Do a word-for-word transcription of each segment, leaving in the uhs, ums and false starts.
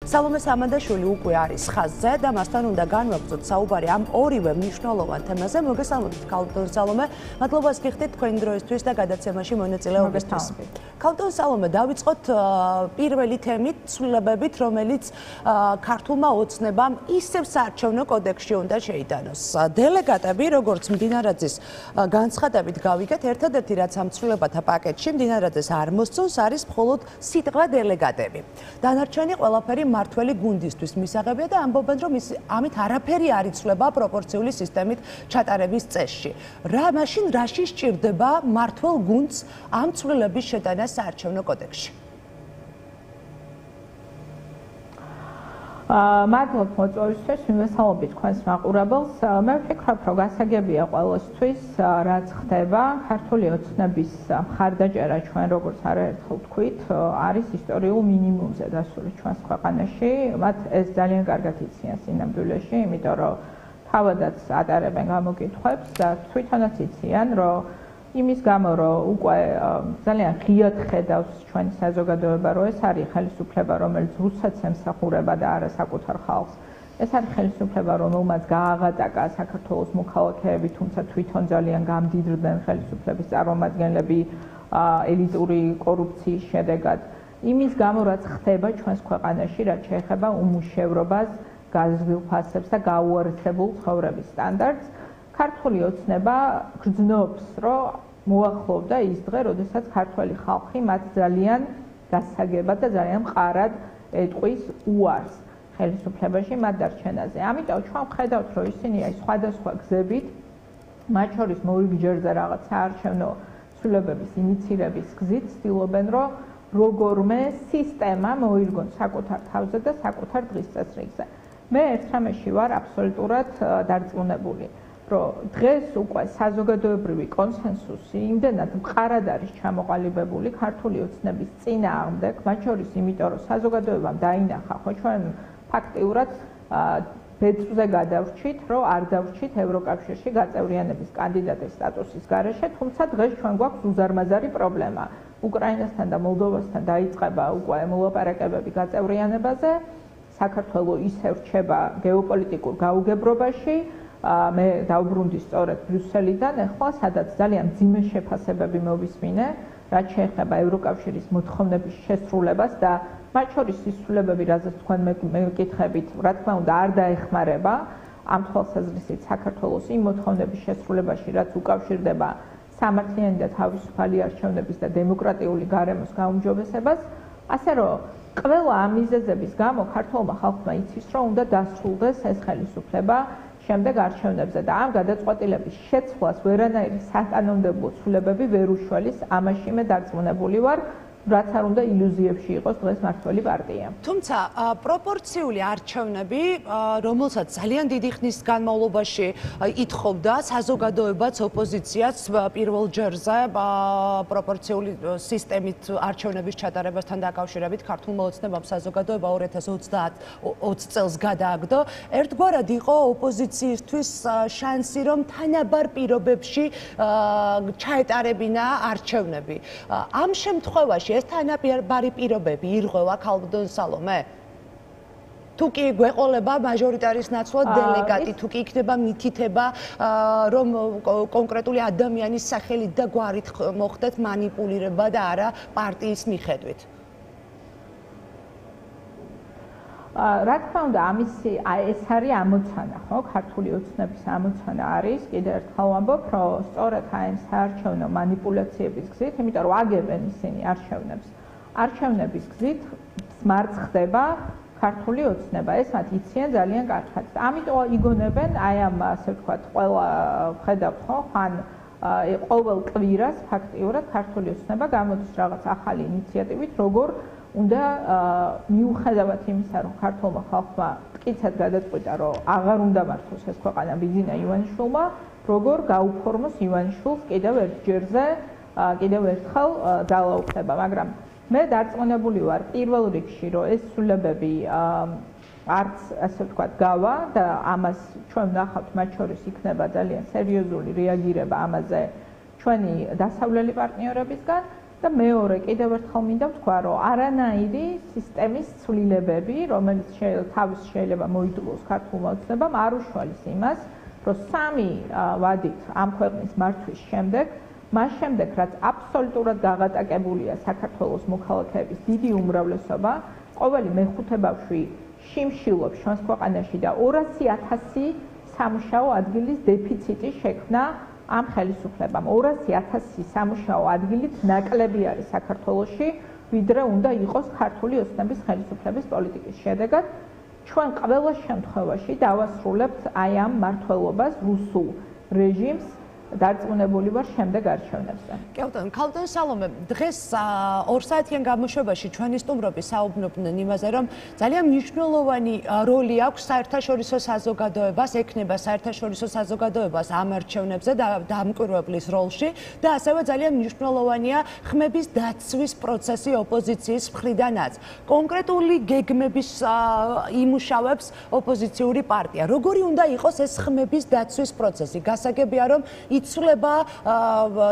სალომე სამანდაშვილი უკვე არის ხაზზე და მასთან უნდა განვაგრძოთ საუბარი ამ ორივე მნიშვნელოვან თემაზე. მოგესალმებით, ქალბატონ სალომე. მადლობას გიხდით თქვენი დროისთვის და გადაცემაში მონაწილეობისთვის. ქალბატონ სალომე, დავიწყოთ პირველი თემით, ცვლილებებით, რომელიც ქართულმა ოცნებამ ისევ საარჩევნო კოდექსში უნდა შეიტანოს. დელეგატები, როგორც მდინარაძის განცხადებით გავიგეთ, ერთადერთი რაც ამ ცვლილებათა პაკეტში მდინარაძეს არ მოსწონს, არის მხოლოდ სიტყვა დელეგატები. დანარჩენი ყველაფერი მართველი გუნდისთვის მისაღებია და ამბობენ, რომ ამით არაფერი არ იცვლება პროპორციული სისტემით ჩატარების წესში. რა მაშინ რაში სჭირდება მართლ გუნდს ამ ცვლილების შეტანა საარჩევნო კოდექსში? მადლობ მოწვევისთვის, მივესალმებით თქვენს მაყურებელს. მე ვფიქრობ, რომ გასაგებია ყველასთვის, რაც ხდება ქართული ოცნების მხარდაჭერა ჩვენ როგორც არაერთხელ ვთქვით, არის ისტორიულ მინიმუმზე დასული ჩვენს ქვეყანაში. მათ ეს ძალიან კარგად იციან სინამდვილეში, იმიტომ რომ თავადაც ატარებენ გამოკითხვებს და თვითონაც იციან, რომ იმის გამო, რომ უკვე ძალიან ღიად ხედავს ჩვენი საზოგადოება, რომ ეს არის ხელისუფლება, რომელიც რუსეთს ემსახურება და არა საკუთარ ხალხს. ეს არის ხელისუფლება, რომელმაც გააღატაკა საქართველოს მოქალაქეები, თუმცა თვითონ ძალიან გამდიდრდნენ ხელისუფლების წარმომადგენლები ელიტური კორუფციის შედეგად. იმის გამო, რაც ხდება ჩვენს ქვეყანაში, რაც შეეხება უმუშევრობას, გაზრდილ ფასებს და გაუარესებულ ცხოვრების სტანდარტს, ქართული ოცნება გრძნობს, რომ მოახლოვდა ის დღე, როდესაც ქართველი ხალხი მათ ძალიან გასაგებად და ძალიან მყარად ეტყვის უარს ხელისუფლებაში მათ დარჩენაზე. ამიტომ ჩვენ ვხედავთ, რომ ისინი აი სხვადასხვა გზებით, მათ შორის მორიგჯერზე რაღაც საარჩევნო ცვლილებების ინიციირების გზით ცდილობენ, რომ როგორმე სისტემა მოირგონ საკუთარ თავზე და საკუთარ დღის წესრიგზე. მე ერთ რამეში ვარ აბსოლუტურად დარწმუნებული, რომ დღეს უკვე საზოგადოებრივი კონსენსუსი იმდენად მყარად არის ჩამოყალიბებული ქართული ოცნების წინააღმდეგ, მათ შორის იმიტომ, რომ საზოგადოებამ დაინახა, ხო ჩვენ ფაქტიურად ბეწვზე გადავრჩით, რომ არ დავრჩით ევროკავშირში გაწევრიანების კანდიდატის სტატუსის გარეშე, თუმცა დღეს ჩვენ გვაქვს უზარმაზარი პრობლემა. უკრაინასთან და მოლდოვასთან დაიწყება უკვე მოლაპარაკებები გაწევრიანებაზე, საქართველოს ისევ რჩება გეოპოლიტიკურ გაუგებრობაში. მე დავბრუნდი სწორედ ბრიუსელიდან, ახლა სადაც ძალიან მძიმე შეფასებები მოვისმინე, რაც შეეხება ევროკავშირის მოთხოვნების შესრულებას და მათ შორის ის ცვლილებები, რაზეც თქვენ მეკითხებით, რა თქმა უნდა, არ დაეხმარება ამ თვალსაზრისით საქართველოს იმ მოთხოვნების შესრულებაში, რაც უკავშირდება სამართლიანი და თავისუფალი არჩევნების და დემოკრატიული გარემოს გაუმჯობესებას, ასე რომ ყველა ამ მიზეზების გამო ქართულმა ხალხმა იცის, რომ უნდა დასრულდეს ეს ხელისუფლება შემდეგ არჩევნებზე და ამ გადაწყვეტილების შეცვლას ვერანაირი საკანონმდებლო ცვლილებები ვერ უშველის. ამაში მე დარწმუნებული ვარ, რაც არ უნდა ილუზიებში იყოს დღეს მართველი პარტია. თუმცა პროპორციული არჩევნები, რომელსაც ძალიან დიდი ხნის განმავლობაში ითხოვდა საზოგადოებაც, ოპოზიციაც პირველ ჯერზე პროპორციული სისტემით არჩევნების ჩატარებასთან დაკავშირებით ქართულმა ოცნებამ საზოგადოება ორი ათას ოცდაათი წელს გადააგდო. ერთგვარად იყო ოპოზიციისთვის შანსი, რომ თანაბარ პირობებში ჩაეტარებინა არჩევნები. ამ შემთხვევაში ეს თანაბარი პირობები ირღვევა ქალბატონ სალომე? თუ კი გვეყოლება მაჟორიტარის ნაცვლად დელეგატი, თუ კი იქნება მითითება, რომ კონკრეტული ადამიანის სახელით და გვარით მოხდეთ მანიპულირება და არა პარტიის მიხედვით. რა თქმა უნდა, ამისი ეს არის ამოცანა, ხო? ქართული ოცნების ამოცანა არის, კიდევ ერთხელ ვამბობ, რომ სწორედ აი ამ საარჩევნო манипуляციების გზით, იმიტომ რომ აგებენ ისინი არჩევნებს. არჩევნების გზით მარცხ ხდება ქართული ოცნება, ეს მათ იციან ძალიან კარგად. ამიტომ იგონებენ აი ამ ასე ვთქვათ, ყველა ხედავთ, ხო? ხან ყოველ კვირას ფაქტიურად ქართული ოცნება გამოდის რაღაც ახალი ინიციატივით, როგორ უნდა მიუხედავად იმისა, რომ ქართულმა ხალხმა მტკიცედ გადაწყვიტა, რომ აღარ უნდა მართოს ეს ქვეყანა ბიძინა ივანიშვილმა, როგორ გაუფორმოს ივანიშვილს კიდევ ერთჯერზე, კიდევ ერთხელ ძალაუფლება, მაგრამ მე დარწმუნებული ვარ პირველ რიგში, რომ ეს ცვლილებები არც ასე ვთქვათ გავა და ამას ჩვენ ვნახავთ, მათ შორის იქნება ძალიან სერიოზული რეაგირება ამაზე ჩვენი დასავლელი პარტნიორებისგან. და მეორე კიდევ ერთხელ მინდა ვთქვა, რომ არანაირი სისტემის ცვლილებები, რომელიც თავის შეიძლება მოიდლოს ქართულმა ოცნებამ, არ უშუალებს იმას, რომ სამი ვადით ამ ქვეყნის მართვის შემდეგ, მას შემდეგ, რაც აბსოლუტურად გაღატაკებულია საქართველოს მოქალაქეების დიდი უმრავლესობა, ყოველი მეხუთე ბავშვი შიმშილობს ჩვენს ქვეყანაში და ორასი ათასი სამუშაო ადგილის დეფიციტი შექმნა ამ ხელისუფლებამ. ორასი ათასი სამუშაო ადგილით ნაკლები არის საქართველოში, ვიდრე უნდა იყოს ქართული ოცნების ხელისუფლების პოლიტიკის შედეგად. ჩვენ ყველა შემთხვევაში დავასრულებთ აი ამ მმართველობას, რუსულ რეჟიმს დარწმუნებული ვარ შემდეგ არჩევნებზე. კელტონ, ქალბატონ სალომე, დღეს ორ საათიან გამოშვებაში ჩვენი სტუმრები საუბრობდნენ იმაზე, რომ ძალიან მნიშვნელოვანი როლი აქვს საერთაშორისო საზოგადოებას, ექნება საერთაშორისო საზოგადოებას ამ არჩევნებზე და დამკვირვებლის როლში და ასევე ძალიან მნიშვნელოვანია ხმების დაცვის პროცესი ოპოზიციის მხრიდანაც. კონკრეტული გეგმების იმუშავებს ოპოზიციური პარტია. როგორი უნდა იყოს ეს ხმების დაცვის პროცესი? გასაგებია, რომ იცვლება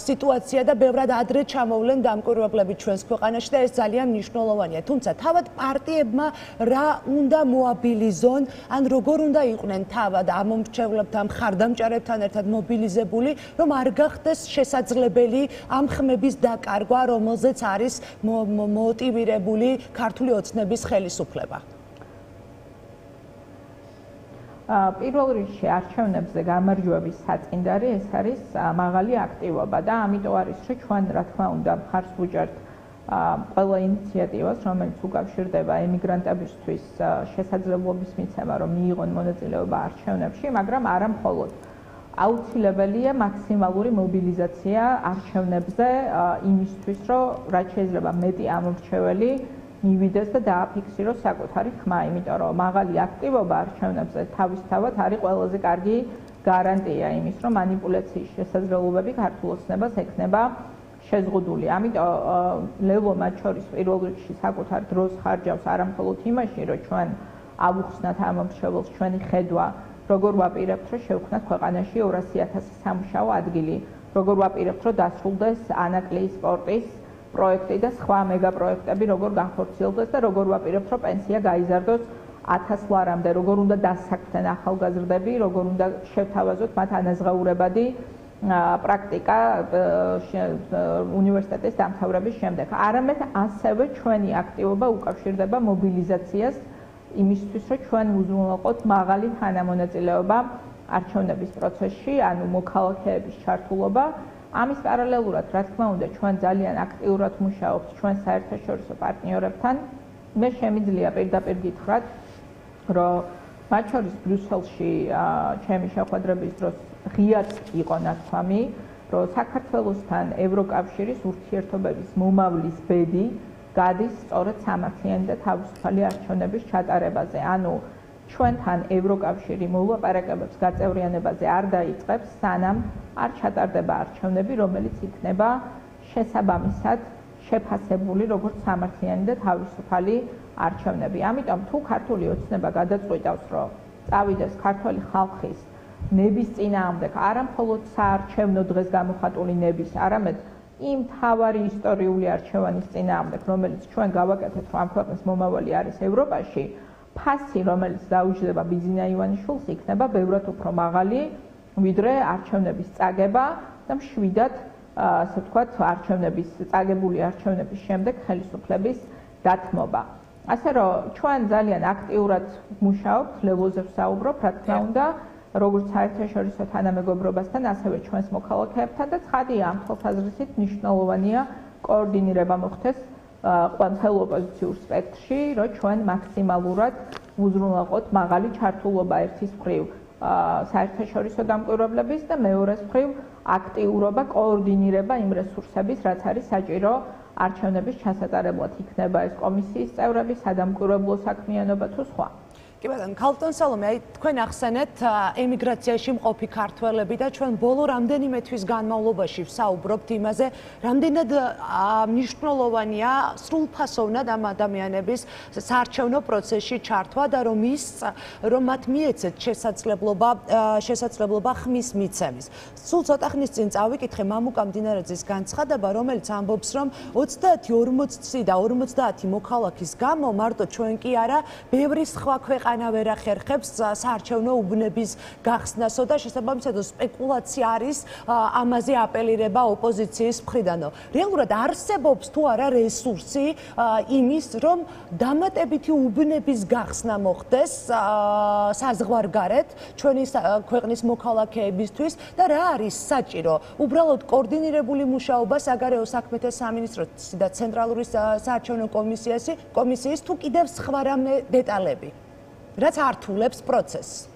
სიტუაცია და ბევრად ადრე ჩამოვლენ დამკვირვებლები ჩვენს ქვეყანაში და ეს ძალიან მნიშვნელოვანია. თუმცა თავად პარტიებმა რა უნდა მოაბილიზონ, ან როგორ უნდა იყვნენ თავად ამომრჩევლებთან, მხარდამჭერებთან ერთად მობილიზებული, რომ არ გახდეს შესაძლებელი ამ ხმების დაკარგვა, რომელზეც არის მოტივირებული ქართული ოცნების ხელისუფლება. პირველ რიგში არჩევნებზე გამარჯვების საწინდარი ეს არის მაღალი აქტივობა და ამიტომ არის რომ ჩვენ რა თქმა უნდა მხარს ვუჭერთ ყველა ინიციატივას, რომელიც უკავშირდება ემიგრანტებისთვის შესაძლებლობის მიცემა, რომ მიიღონ მონაწილეობა არჩევნებში, მაგრამ არა მხოლოდ. აუცილებელია მაქსიმალური მობილიზაცია არჩევნებზე იმისთვის, რომ რაც შეიძლება მეტი ამომრჩეველი მივიდეს და დააფიქსიროს საკუთარი ხმა, იმიტომ რომ მაღალი აქტივობა არჩევნებზე თავისთავად არის ყველაზე კარგი გარანტია იმის, რომ манипуляციის შესაძლებლობები ქართულ ოცნებას ექნება შეზღუდული. ამიტომ ლელო მათ შორის პირველ რიგში საკუთარ დროს ხარჯავს არა მხოლოდ იმაში, რომ ჩვენ ავუხსნათ ამომრჩეველს ჩვენი ხედვა, როგორ ვაპირებთ, რომ შევქმნათ ქვეყანაში ორასი ათასი სამუშაო ადგილი, როგორ ვაპირებთ, რომ დასრულდეს ანაკლიის სპორტის პროექტი და სხვა მეგაპროექტები როგორ განხორციელდეს და როგორ ვაპირებთ, რომ პენსია გაიზარდოს ათას ლარამდე, როგორ უნდა დასაქმდნენ ახალგაზრდები, როგორ უნდა შევთავაზოთ მათ ანაზღაურებადი პრაქტიკა უნივერსიტეტის დამთავრების შემდეგ. არამედ ასევე ჩვენი აქტივობა უკავშირდება მობილიზაციას იმისთვის, რომ ჩვენ უზრუნველყოთ მაღალი თანამონაწილეობა არჩევნების პროცესში, ანუ მოქალაქეების ჩართულობა. ამის პარალელურად, რა თქმა უნდა, ჩვენ ძალიან აქტიურად მუშაობთ ჩვენ საერთაშორისო პარტნიორებთან. მე შემიძლია პირდაპირ გითხრათ, რომ მათ შორის ბრიუსელში ჩემი შეხვედრების დროს ღიად იყო ნათქვამი, რომ საქართველოსთან ევროკავშირის ურთიერთობების მომავლის ბედი გადის სწორედ სამართლიანი და თავისუფალი არჩევნების ჩატარებაზე. ანუ ჩვენთან ევროკავშირი მოლაპარაკებებს გაწევრიანებაზე არ დაიწყებს, სანამ არ ჩატარდება არჩევნები, რომელიც იქნება შესაბამისად შეფასებული როგორც სამართლიანი და თავისუფალი არჩევნები. ამიტომ თუ ქართული ოცნება გადაწყვიტავს, რომ წავიდეს ქართული ხალხის ნების წინააღმდეგ, არა მხოლოდ საარჩევნო დღეს გამოხატული ნების, არამედ იმ თავარი ისტორიული არჩევანის წინააღმდეგ, რომელიც ჩვენ გავაკეთეთ, რომ ამ ქვეყნის მომავალი არის ევროპაში, ფასი, რომელიც დაუჯდება ბიძინა ივანიშვილს, იქნება ბევრად უფრო მაღალი, ვიდრე არჩევნების წაგება და მშვიდად, ასე ვთქვათ, არჩევნების წაგებული არჩევნების შემდეგ ხელისუფლების დათმობა. ასე რომ ჩვენ ძალიან აქტიურად მუშაობთ, ლელოზე ვსაუბრობ, რა თქმა უნდა, როგორც საერთაშორისო თანამეგობრობასთან, ასევე ჩვენს მოქალაქეებთან და ცხადია ამ თვალსაზრისით მნიშვნელოვანია კოორდინირება მოხდეს ყველა ოპოზიციურ სპექტრში, რომ ჩვენ მაქსიმალურად უზრუნველყოთ მაღალი ჩართულობა ერთის მხრივ საერთაშორისო დამკვირვებლების და მეორეს მხრივ აქტიურობა, კოორდინირება იმ რესურსების, რაც არის საჭირო არჩევნების ჩასატარებლად, იქნება ეს კომისიის წევრები, სადამკვირვებლო საქმიანობა თუ სხვა. კი ბატონო, ქალბატონ სალომე, აი თქვენ ახსენეთ ემიგრაციაში მყოფი ქართველები და ჩვენ ბოლო რამდენიმე თვის განმავლობაში ვსაუბრობთ იმაზე, რამდენად მნიშვნელოვანია სრულფასოვნად ამ ადამიანების საარჩევნო პროცესში ჩართვა და რომ ის რომ მათ მიეცეთ შესაძლებლობა შესაძლებლობა ხმის მიცემის. სულ ცოტა ხნის წინ წავიკითხე მამუკა მდინარეძის განცხადება, რომელიც ამბობს, რომ ოცდაათი ორმოცი და ორმოცდაათი მოქალაქის გამო მარტო ჩვენ კი არა, ბევრი სხვა ქვეყანა ვერ ახერხებს საარჩევნო უბნების გახსნასო და შესაბამისად სპეკულაცია არის ამაზე აპელირება ოპოზიციის მხრიდანო. რეალურად არსებობს თუ არა რესურსი იმის, რომ დამატებითი უბნების გახსნა მოხდეს საზღვარგარეთ ჩვენი ქვეყნის მოქალაქეებისთვის და რა არის საჭირო? უბრალოდ კოორდინირებული მუშაობა საგარეო საქმეთა სამინისტროსი და ცენტრალური საარჩევნო კომისიაში კომისიის თუ კიდევ სხვა რამე დეტალები, რაც ართულებს პროცესს.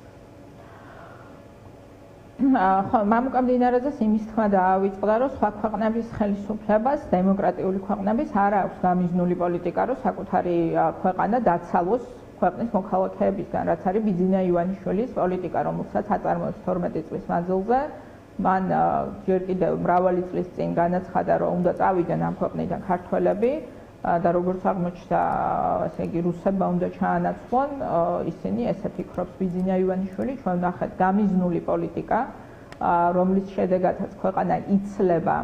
ხო, მამუკა მდინარეძეს იმის თქმა დაავიწყდა, რომ სხვა ქვეყნების ხელისუფლებას, დემოკრატიული ქვეყნების არ აქვს გამიზნული პოლიტიკა, რომ საკუთარი ქვეყანა დაცალოს ქვეყნის მოქალაქეებისგან, რაც არის ბიძინა ივანიშვილის პოლიტიკა, რომელსაც აწარმოებს თორმეტი წლის მანძილზე. მან ჯერ კიდევ მრავალი წლის წინ განაცხადა, რომ უნდა წავიდნენ ამ ქვეყნიდან ქართველები და როგორც აღმოჩნდა, ასე იგი რუსებმა უნდა ჩაანაცვლონ, ისინი ესე ფიქრობს ბიძინა ივანიშვილი, ჩვენ ვნახეთ გამიზნული პოლიტიკა, რომლის შედეგადაც ქვეყანა იცლება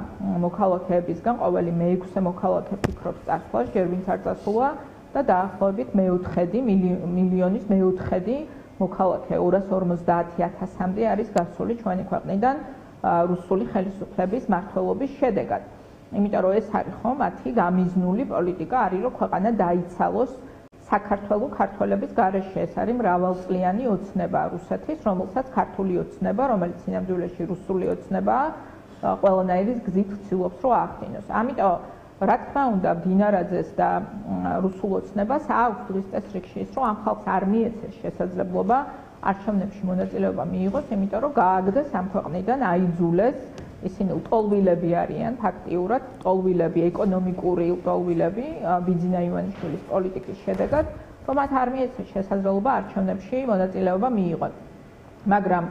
მოქალაქეებისგან, ყოველი მეექვსე მოქალაქე ფიქრობს წასვლას, ჯერ ვინც არ წასულა და დაახლოებით მეოთხედი მილიონის მეოთხედი მოქალაქე ორას ორმოცდაათი ათასამდე არის გასული ჩვენი ქვეყნიდან რუსული ხელისუფლების მმართველობის შედეგად. იმიტომ რომ ეს არის ხო მათი გამიზნული პოლიტიკა არის, რომ ქვეყანა დაიცალოს საქართველოს ქართველების გარეშე. ეს არის მრავალწლიანი ოცნება რუსეთის, რომელსაც ქართული ოცნება, რომელიც სინამდვილეში რუსული ოცნებაა, ყველანაირი გზით ცდილობს რომ აახდინოს. ამიტომ რა თქმა უნდა, მდინარეძეს და რუსულ ოცნებას აქვს დღის წესრიგში ის, რომ ამ ხალხს არ მიეცეს შესაძლებლობა არჩევნებში მონაწილეობა მიიღოს, იმიტომ რომ გააგდეს ამ ქვეყნიდან, აიძულეს. ისინი ლტოლვილები არიან, ფაქტიურად ლტოლვილები, ეკონომიკური ლტოლვილები ბიძინა ივანიშვილის პოლიტიკის შედეგად, რომ მათ არ მიეცეს შესაძლებლობა არჩევნებში მონაწილეობა მიიღონ. მაგრამ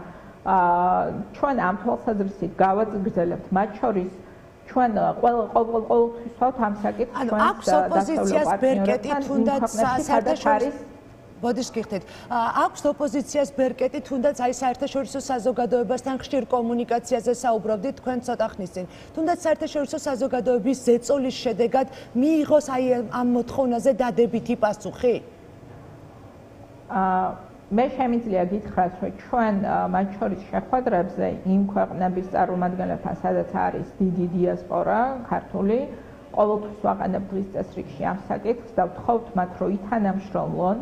ჩვენ ამ თვალსაზრისით გავაგრძელებთ, მათ შორის ჩვენ ყოველთვის ვთქვათ ამ საკითხს, ჩვენ აქვს ოპოზიციას ბერკეტი თუნდაც საერთაშორისო ბოდიშ გიხდით. აქვს ოპოზიციას ბერკეტი თუნდაც აი საერთაშორისო საზოგადოებასთან ხშირ კომუნიკაციაზე საუბრობდით თქვენ ცოტა ხნის წინ. თუნდაც საერთაშორისო საზოგადოების ზეწოლის შედეგად მიიღოს აი ამ მოთხოვნაზე დადებითი პასუხი? აა მე შემიძლია გითხრათ, რომ ჩვენ მათ შორის შეხვედრებზე იმ ქვეყნების წარმომადგენლებთან, სადაც არის დიდი დიასპორა ქართული, ყოველთვის ვაყენებ დღის წესრიგში ამ საკითხს და ვთხოვთ მათ, რომ ითანამშრომლონ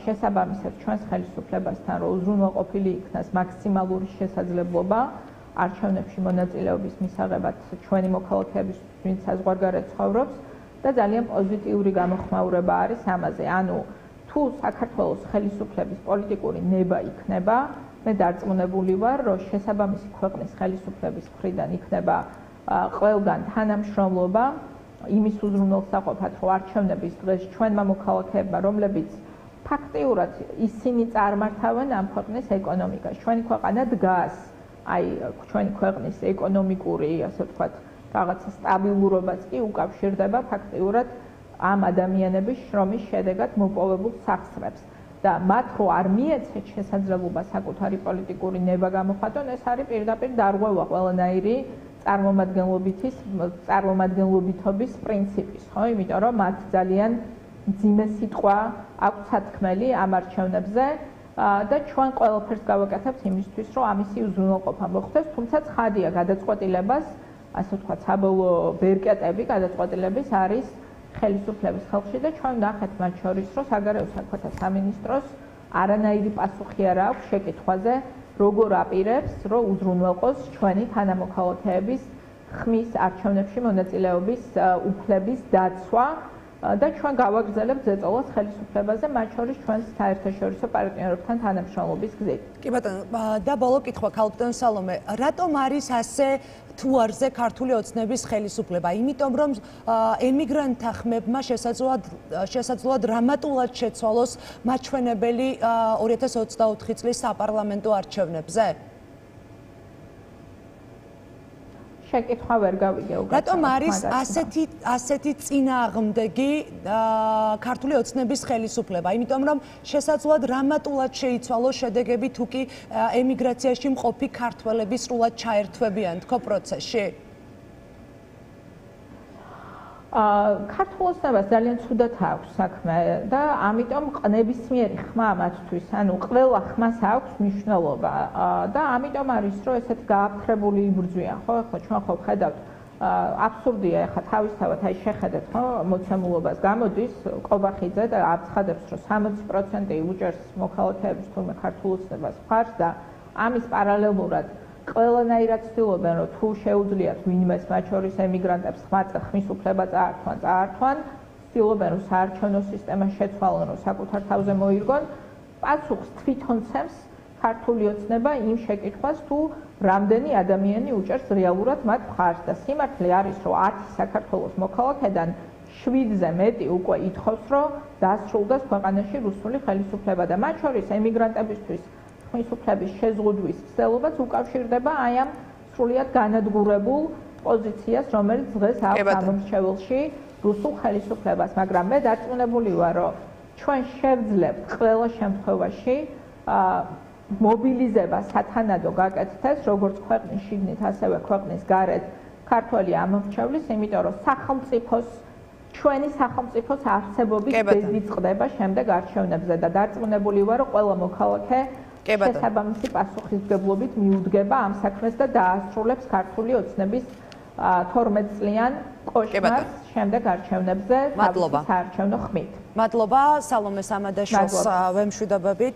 შესაბამისად ჩვენს ხელისუფლებასთან, რომ უზრუნველყოფილი იქნას მაქსიმალური შესაძლებლობა არჩევნებში მონაწილეობის მისაღებად ჩვენი მოქალაქეების, ვინც საზღვარგარეთ ცხოვრობს და ძალიან პოზიტიური გამოხმაურება არის ამაზე. ანუ თუ საქართველოს ხელისუფლების პოლიტიკური ნება იქნება, მე დარწმუნებული ვარ, რომ შესაბამისი ქვეყნის ხელისუფლების მხრიდან იქნება ყველგან თანამშრომლობა იმის უზრუნველსაყოფად, რომ არჩევნების დღეს ჩვენმა მოქალაქეებმა, რომლებიც ფაქტიურად ისინი წარმართავენ ამ ქვეყნის ეკონომიკას. ჩვენი ქვეყანა დგას, აი ჩვენი ქვეყნის ეკონომიკური, ასე ვთქვათ, რაღაცა სტაბილურობაც კი უკავშირდება ფაქტიურად ამ ადამიანების შრომის შედეგად მოპოვებულ სახსრებს. და მათ რო არ მიეცეთ შესაძლებლობა საკუთარი პოლიტიკური ნება გამოხატონ, ეს არის პირდაპირ დარღვევა ყველანაირი წარმომადგენლობითის წარმომადგენლობითობის პრინციპის, ხო? იმიტომ რომ მათ ძალიან მძიმე სიტყვა აქვს სათქმელი ამ არჩევნებზე და ჩვენ ყველაფერს გავაკეთებთ იმისთვის, რომ ამისი უზრუნველყოფა მოხდეს, თუმცა ცხადია გადაწყვეტილებას, ასე ვთქვათ, საბოლოო ბერკეტები გადაწყვეტილების არის ხელისუფლების ხელში და ჩვენ ვნახეთ მათ შორის, რომ საგარეო საქმეთა სამინისტროს არანაირი პასუხი არ აქვს შეკითხვაზე, როგორ აპირებს, რომ უზრუნველყოს ჩვენი თანამოქალაქეების ხმის არჩევნებში მონაწილეობის უფლების დაცვა და ჩვენ გავაგრძელებთ ზეწოლას ხელისუფლებაზე, მათ შორის ჩვენს საერთაშორისო პარტნიორებთან თანამშრომლობის გზით. კი ბატონო, და ბოლო კითხვა ქალბატონ სალომე, რატომ არის ასე თუ არზე ქართული ოცნების ხელისუფლება? იმიტომ რომ ემიგრანტთა ხმებმა შესაძლოა შესაძლოა დრამატულად შეცვალოს მაჩვენებელი ორი ათას ოცდაოთხი წლის საპარლამენტო არჩევნებზე? შეკითხვა ვერ გავიგე უკვე. რატომ არის ასეთი ასეთი წინააღმდეგი ქართული ოცნების ხელისუფლება? იმიტომ რომ შესაძლოა დრამატულად შეიცვალოს შედეგები თუ კი ემიგრაციაში მყოფი ქართველები სრულად ჩაერთვებიან თქო პროცესში? ქართულ ოცნებას ძალიან ცუდად აქვს საქმე და ამიტომ ნებისმიერი ხმა მათთვის, ანუ ყველა ხმას აქვს მნიშვნელობა და ამიტომ არის რომ ესეთი გააფრთხებული იბრძვიან, ხო? ახლა ჩვენ ხო ხედავთ აბსურდია ახლა თავისთავად აი შეხედეთ, ხო? მოცემულობას გამოდის ყობახიძე და აცხადებს რომ სამოცი პროცენტი უჭერს მოქალაქეების თურმე ქართულ ოცნებას მხარს და ამის პარალელურად ყველანაირად ცდილობენ რომ თუ შეუძლიათ ვინმეს მათ შორის ემიგრანტებს ხმის უფლება წაართვან, წაართვან, ცდილობენ რომ საარჩევნო სისტემა შეცვალონ, რომ საკუთარ თავზე მოირგონ, პასუხს თვითონ ცემს ქართული ოცნება იმ შეკითხვას თუ რამდენი ადამიანი უჭერს რეალურად მათ მხარს და სიმართლე არის რომ ათი საქართველოს მოქალაქედან შვიდზე მეტი უკვე ითხოვს რომ დასრულდეს ქვეყანაში რუსული ხელისუფლება და მათ შორის ემიგრანტებისთვის ხმის უფლების შეზღუდვის ცდილობაც უკავშირდება აი ამ სრულიად განადგურებულ პოზიციას, რომელიც დღეს აქვს ამომრჩეველში რუსულ ხელისუფლებას, მაგრამ მე დარწმუნებული ვარ, რომ ჩვენ შევძლებთ ყველა შემთხვევაში მობილიზება სათანადო გაკეთდეს, როგორც ქვეყნის შიგნით, ასევე ქვეყნის გარეთ ქართველი ამომრჩევლის, იმიტომ რომ სახელმწიფოს ჩვენი სახელმწიფოს არსებობის ბედი წყდება შემდეგ არჩევნებზე და დარწმუნებული ვარ, რომ ყველა მოქალაქე შესაბამისი პასუხისმგებლობით მიუდგება ამ საქმეს და დაასრულებს ქართული ოცნების თორმეტ წლიან კოშმარს შემდეგ არჩევნებზე საარჩევნო ხმით. მადლობა სალომე სამადაშვილს ვემშვიდობებით.